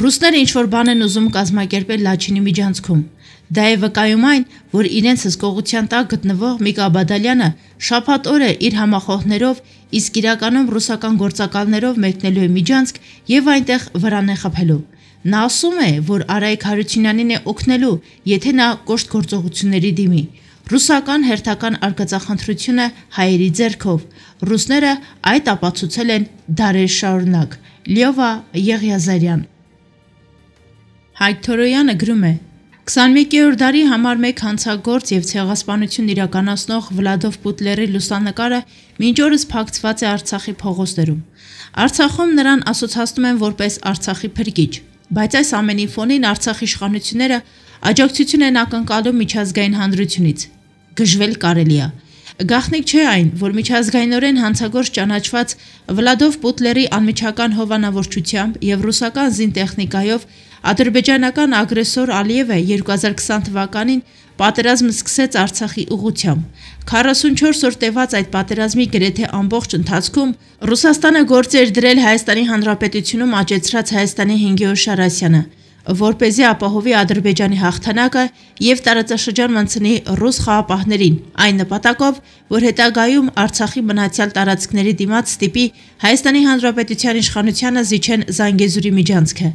Ռուսները ինչ-որ բան են ուզում կազմակերպել Լաչինի միջանցքում։ Դա է վկայում այն, որ իրենց հսկողության տակ գտնվող Միկա Բադալյանը շաբաթ օրը իր համախոհներով, իսկ իրականում ռուսական գործակալներով մեկնելու է Միջանցք եւ այնտեղ վրան է խփելու։ Նա ասում է, որ Արայք Հարությունյանին է օգնելու, եթե նա կոշտ գործողությունների դիմի։ Ռուսական հերթական արկածախնդրությունը հայերի ձեռքով։ Ռուսները այդ ապացուցել են դարեր շարունակ։ Լյովա Եղիազարյան։ Հայկ Թորոյանը գրում է. 21-րդ դարի համար 1 հանցագործ եւ ցեղասպանություն իրականացնող Վլադով Պուտլերի լուսանկարը մինչ օրս փակցված է Արցախի փողոցներում։ Արցախում նրան ասոցացնում են որպես Արցախի փրկիչ, բայց այս ամենի ֆոնին Արցախի իշխանությունները աջակցություն են ակնկալում միջազգային հանրությունից։ Գժվել կարելի է։ Գաղտնիք չէ այն, որ միջազգայինորեն հանցագործ ճանաչված Վլադով Պուտլերի անմիջական հովանավորչությամբ եւ ռուսական զինտեխնիկայով ադրբեջանական ագրեսոր Ալիևը 2020 թվականին պատերազմ սկսեց Արցախի ուղղությամբ։ 44 օր տևած այդ պատերազմի գրեթե ամբողջ ընթացքում Ռուսաստանը գործ էր դրել Հայաստանի Հանրապետությունում աճեցրած Հայաստանի 5-րդ Շարասյանը, որպեսզի ապահովի Ադրբեջանի հաղթանակը եւ տարածաշրջան մտցնի ռուս խաղապահներին, այն նպատակով, որ հետագայում Արցախի մնացյալ տարածքների դիմաց ստիպի Հայաստանի Հանրապետության իշխանությանը զիջեն Զանգեզուրի միջանցքը։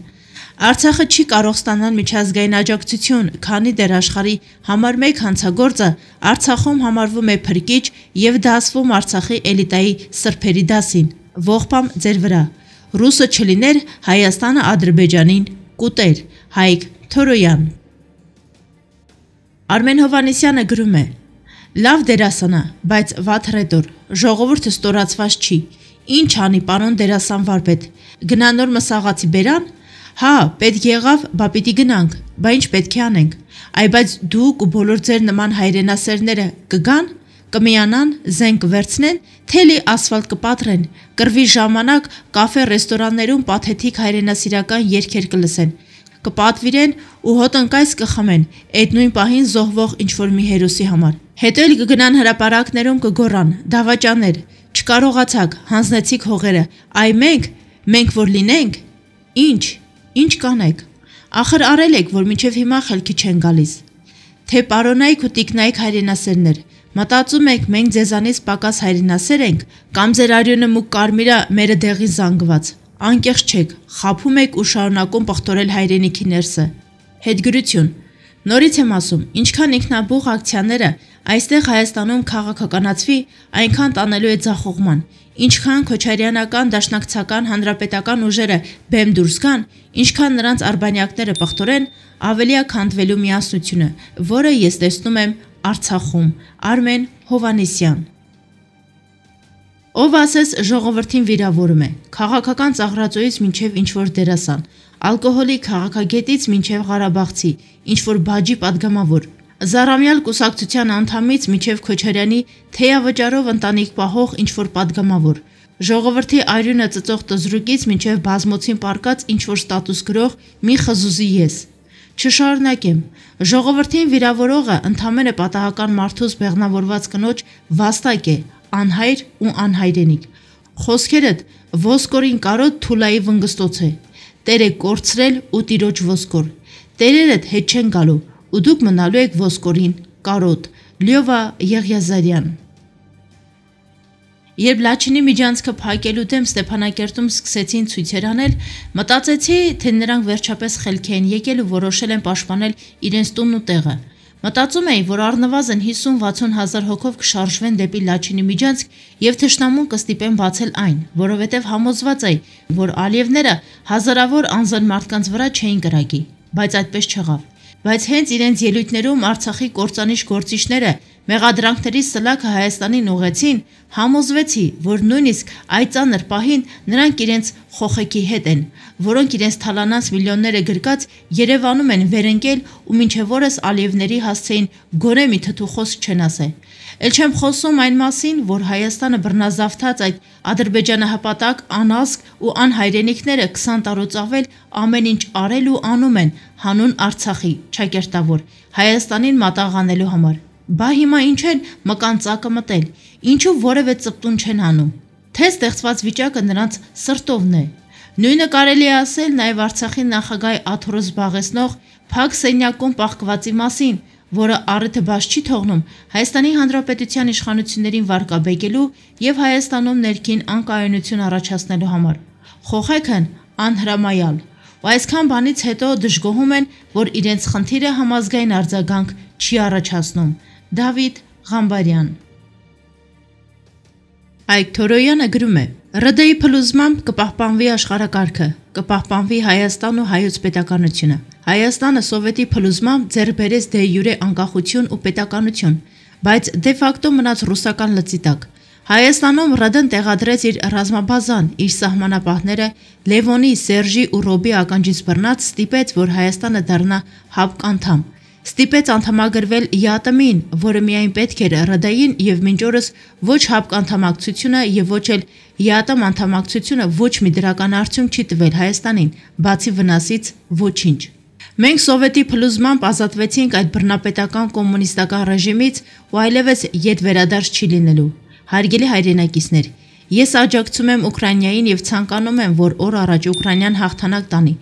Արցախը չի կարող ստանալ միջազգային աջակցություն, քանի դեռ աշխարհի համար 1 հանցագործը Արցախում համարվում է փրկիչ եւ դասվում Արցախի էլիտայի սրբերի դասին։ Ողբամ ձեր վրա։ Ռուսը չլիներ, Հայաստանը Ադրբեջանին կուտեր։ Հայկ Թորոյան։ Արմեն Հովանեսյանը գրում է. Լավ դերասան է, բայց վատ ռետոր, ժողովուրդը ստորացված չի։ Ինչ անի պարոն դերասան վարպետ։ Գնա նոր մսաղացի բերան։ Հա, պետք եղավ, բա պիտի գնանք, բա ինչ պետք է անենք։ Այ բայց դուք ու բոլոր ձեր նման հայրենասերները կգան, կմիանան, զենք կվերցնեն, թելի ասֆալտ կպատրեն, կռվի ժամանակ կաֆե ռեստորաններում պաթետիկ հայրենասիրական երգեր կլսեն, կպատվիրեն ու հոտնկայս կխմեն, այդ նույն պահին զոհվող ինչ-որ մի հերոսի համար։ Հետո էլ կգնան հրապարակներում կգոռան, դավաճաներ, չկարողացաք, հանձնեցիք հողերը, այ մենք որ լինենք, ինչ կանեք, ախր արել եք, որ մինչև հիմա խելքի չեն գալիս, թե պարոնայք ու տիկնայք հայրենասերներ, մտածում եք մենք ձեզանից պակաս հայրենասեր ենք, կամ ձեր արյունը մուկ կարմիրը մերը դեղին զանգված, անկեղծ չեք, խաբում եք ու շարունակում պղտորել հայրենիքի ներսը։ Հետգրություն, նորից եմ ասում, ինչքան ինքնաբուխ ակցիաները այստեղ Հայաստանում քաղաքականացվի, այնքան տանելու է ձախողման, ինչքան քոչարյանական, դաշնակցական, հանրապետական ուժերը բեմ դուրս գան, ինչքան նրանց արբանյակները պղտորեն, ավելի է քանդվելու միասնությունը, որը ես տեսնում եմ Արցախում։ Արմեն Հովանեսյան։ Ով ասես ժողովրդին վիրավորում է, քաղաքական ծաղրածոյից մինչև ինչ-որ դերասան, ալկոհոլի քաղաքագետից մինչև Ղարաբաղցի, ինչ-որ բաջի պատգամավոր, Զարամյալ կուսակցության անդամից մինչև Քոչարյանի թեյավճարով ընտանիք պահող ինչ-որ պատգամավոր, ժողովրդի արյունը ծծող տզրուկից մինչև բազմոցին պարկած ինչ-որ ստատուս գրող մի խզուզի ես։ Չշարունակեմ, ժողովրդին վիրավորողը ընդամենը պատահական մարդուս բեղնավորված կնոջ վաստակ է, անհայր ու անհայրենիք։ Խոսքերդ ոսկորին կարոտ թուլայի վնգստոց է, Տեր է կորցրել ու տիրոջ ոսկոր, տերերդ հետ չեն գալու, ու դուք մնալու եք ոսկորին կարոտ։ Լյովա Եղիազարյան։ Երբ Լաչինի միջանցքը փակելու դեմ Ստեփանակերտում սկսեցին ցույցեր անել, մտածեցի, թե նրանք վերջապես խելքի են եկել ու որոշել են պաշտպանել իրենց տունն ու տեղը։ Մտածում էի, որ առնվազն 50-60 հազար հոգով կշարժվեն դեպի Լաչինի միջանցք եւ թշնամուն կստիպեն բացել այն, որովհետեւ համոզված էի, որ Ալիևները հազարավոր անզեն մարդկանց վրա չէին կրակի, բայց այդպես չեղավ։ Բայց հենց իրենց ելույթներում Արցախի կործանիչ գործիչները մեղադրանքների սլաքը Հայաստանին ուղեցին, համոզվեցի, որ նույնիսկ այդ ծանր պահին նրանք իրենց խոխեքի հետ են, որոնք իրենց թալանած միլիոնները գրկած Երևանում են վերընկել ու մինչև օրս Ալիևների հասցեին գոնե մի թթուխոս չեն ասել։ Էլ չեմ խոսում այն մասին, որ Հայաստանը բռնազավթած այդ ադրբեջանահպատակ, անազգ ու անհայրենիքները 20 տարուց ավել ամեն ինչ արել ու անում են հանուն Արցախի, ճակերտավոր, Հայաստանին մատաղանելու համար։ Բա հիմա ինչ են մկան ծակը մտել, ինչու որևէ ծպտուն չեն անում, թե ստեղծված վիճակը նրանց սրտովն է։ Նույնը կարելի է ասել նաև Արցախի նախագահի աթոռը զբաղեցնող փակ սենյակում պահկվածի մասին, որը առիթը բաց չի թողնում Հայաստանի Հանրապետության իշխանություններին վարկաբեկելու եւ Հայաստանում ներքին անկայունություն առաջացնելու համար։ Խոխեքն անհրամայալ։ Ու այսքան բանից հետո դժգոհում են, որ իրենց խնդիրը համազգային արձագանք չի առաջացնում։ Դավիթ Ղամբարյան։ Այգ Թորոյանը գրում է. ՌԴ-ի փլուզմամբ կպահպանվի աշխարհակարգը, կպահպանվի Հայաստան ու հայոց պետականությունը։ Հայաստանը սովետի փլուզմամբ ձեռք բերեց դե յուրե անկախություն ու պետականություն, բայց դե ֆակտո մնաց ռուսական լծի տակ։ Հայաստանում ՌԴ-ն տեղադրեց իր ռազմաբազան, իր սահմանապահները, Լևոնի, Սերժի ու Ռոբի ականջից բռնած ստիպեց, որ Հայաստանը դառնա ՀԱՊԿ անդամ։ Ստիպեց անդամագրվել ԵԱՏՄ-ին, որը միայն պետք էր ՌԴ-ին եւ մինչ օրս ոչ ՀԱՊԿ անդամակցությունը եւ ոչ էլ ԵԱՏՄ անդամակցությունը ոչ մի դրական արդյունք չի տվել Հայաստանին, բացի վնասից ոչինչ։ Մենք սովետի փլուզմամբ ազատվեցինք այդ բռնապետական կոմունիստական ռեժիմից ու այլևս ետ վերադարձ չի լինելու։ Հարգելի հայրենակիցներ, ես աջակցում եմ Ուկրաինային եւ ցանկանում եմ, որ օր առաջ Ուկրաինան հաղթանակ տանի,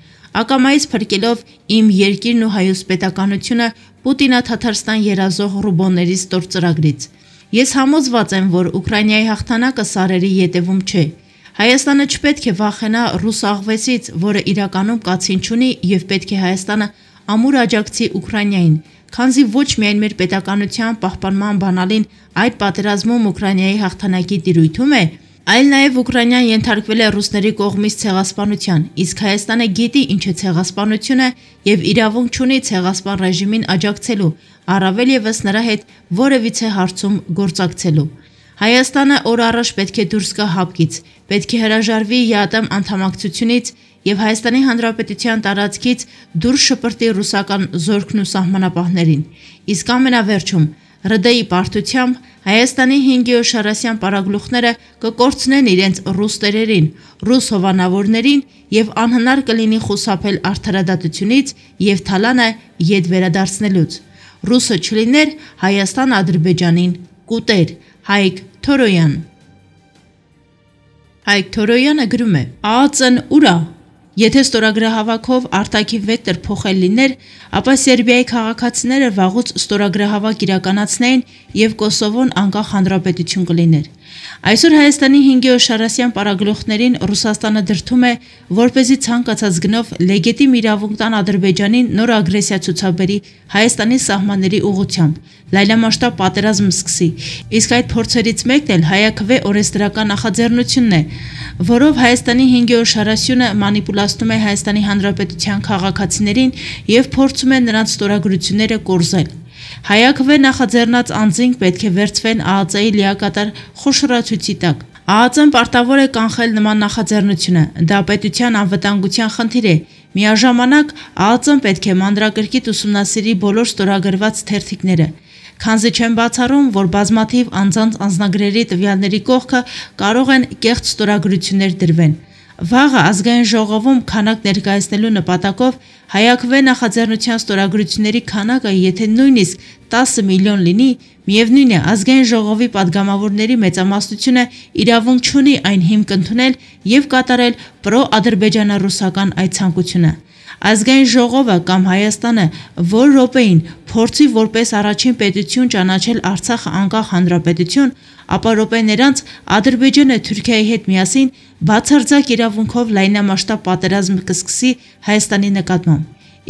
ակամայից փրկելով իմ երկիրն ու հայոց պետականությունը Պուտինա-Թաթարստան երազող ռուբոնների ստոր ծրագրից։ Ես համոզված եմ, որ Ուկրաինայի հաղթանակը սարերի ետևում չէ։ Հայաստանը չպետք է վախենա ռուս աղվեսից, որը իրականում կացին չունի եւ պետք է Հայաստանը ամուր աջակցի Ուկրաինային, քանզի ոչ միայն մեր պետականության պահպանման բանալին այդ պատերազմում Ուկրաինայի հաղթանակի տիրույթում է, այլ նաև Ուկրաինան ենթարկվել է ռուսների կողմից ցեղասպանության, իսկ Հայաստանը գիտի ինչ է ցեղասպանությունը եւ իրավունք չունի ցեղասպան ռեժիմին աջակցելու, առավել եւս նրա հետ որևիցե հարցում գործակցելու։ Հայաստանը օր առաջ պետք է դուրս գա ՀԱՊԿ-ից, պետք է հրաժարվի ԵԱՏՄ անդամակցությունից եւ Հայաստանի Հանրապետության տարածքից դուրս շպրտի ռուսական զորքն ու սահմանապահներին։ Իսկ ամենավերջում ՌԴ-ի պարտությամբ Հայաստանի 5 շարասյան պարագլուխները կկորցնեն իրենց ռուս տերերին, ռուս հովանավորներին եւ անհնար կլինի խուսափել արդարադատությունից եւ թալանը ետ վերադարձնելուց։ Ռուսը չլիներ, Հայաստան Ադրբեջանին կուտեր։ Հայգ Թորոյան։ Հայգ Թորոյանը գրում է. ԱԱԾ-ն ուր է։ Եթե ստորագրահավաքով արտաքին վեկտոր փոխել լիներ, ապա Սերբիայի քաղաքացիները վաղուց ստորագրահավաք իրականացնեին եւ Կոսովոն անկախ հանրապետություն կլիներ։ Այսօր Հայաստանի 5 շարասյան պարագլուխներին Ռուսաստանը դրդում է, որպեսզի ցանկացած գնով լեգիտիմ իրավունք տան Ադրբեջանին նոր ագրեսիա ցուցաբերի Հայաստանի սահմանների ուղղությամբ, լայնամասշտաբ պատերազմ սկսի, իսկ այդ փորձերից մեկն էլ հայաքվե օրենսդրական նախաձեռնությունն է, որով Հայաստանի 5 շարասյունը մանիպուլացնում է Հայաստանի Հանրապետության քաղաքացիներին եւ փորձում է նրանց ստորագրությունները կորզել։ Հայաքվե նախաձեռնած անձինք պետք է վերցվեն ԱԱԾ-ի լիակատար խոշորացույցի տակ։ ԱԱԾ-ն պարտավոր է կանխել նման նախաձեռնությունը, դա պետության անվտանգության խնդիր է։ Միաժամանակ ԱԱԾ-ն պետք է մանրակրկիտ ուսումնասիրի բոլոր ստորագրված թերթիկները, քանզի չեն բացառում, որ բազմաթիվ անձանց անձնագրերի տվյալների կողքը կարող են կեղծ ստորագրություններ դրվեն։ Վաղը ազգային ժողովում քանակ ներկայացնելու նպատակով հայաքվե նախաձեռնության ստորագրությունների քանակը եթե նույնիսկ 10 միլիոն լինի, միևնույն է ազգային ժողովի падգամավորների մեծամասնությունը իրավունք չունի այն հիմք ընդունել եւ կատարել պրո-ադրբեջանա-ռուսական այդ ցանկությունը։ Ազգային ժողովը կամ Հայաստանը որ րոպեին փորձի որպես առաջին պետություն ճանաչել Արցախը անկախ հանրապետություն, ապա րոպեներանց Ադրբեջանը Թուրքիայի հետ միասին բացարձակ իրավունքով լայնամասշտաբ պատերազմ կսկսի Հայաստանի նկատմամբ։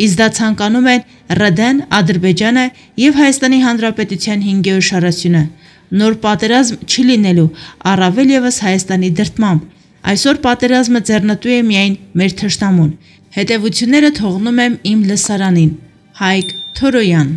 Իսկ դա ցանկանում են ՌԴ-ն, Ադրբեջանը եւ Հայաստանի Հանրապետության 5 շարասյունը։ Նոր պատերազմ չի լինելու, առավել եւս Հայաստանի դրդմամբ։ Այսօր պատերազմը ձեռնտու է միայն մեր թշնամուն։ Հետևությունները թողնում եմ իմ լսարանին։ Հայգ Թորոյան։